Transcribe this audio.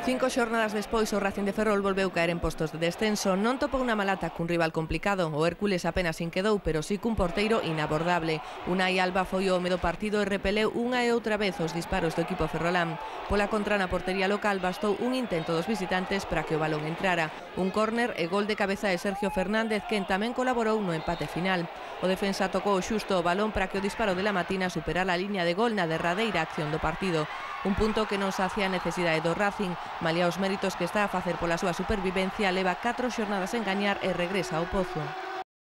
5 xornadas despois o Racing de Ferrol volveu caer en postos de descenso. Non topou unha malata cun rival complicado. O Hércules apenas sin quedou, pero sí cun porteiro inabordable. Unai Alba foi o home do partido e repeleu unha e outra vez os disparos do equipo ferrolán. Pola contra na portería local bastou un intento dos visitantes para que o balón entrara. Un córner e gol de cabeza de Sergio Fernández, quen tamén colaborou no empate final. O defensa tocou xusto o balón para que o disparo de la Matina superara a liña de gol na derradeira acción do partido. Un punto que non sacia a necesidade do Racing. Malia os méritos que está a facer pola súa supervivencia, leva 4 xornadas en gañar e regresa ao pozo.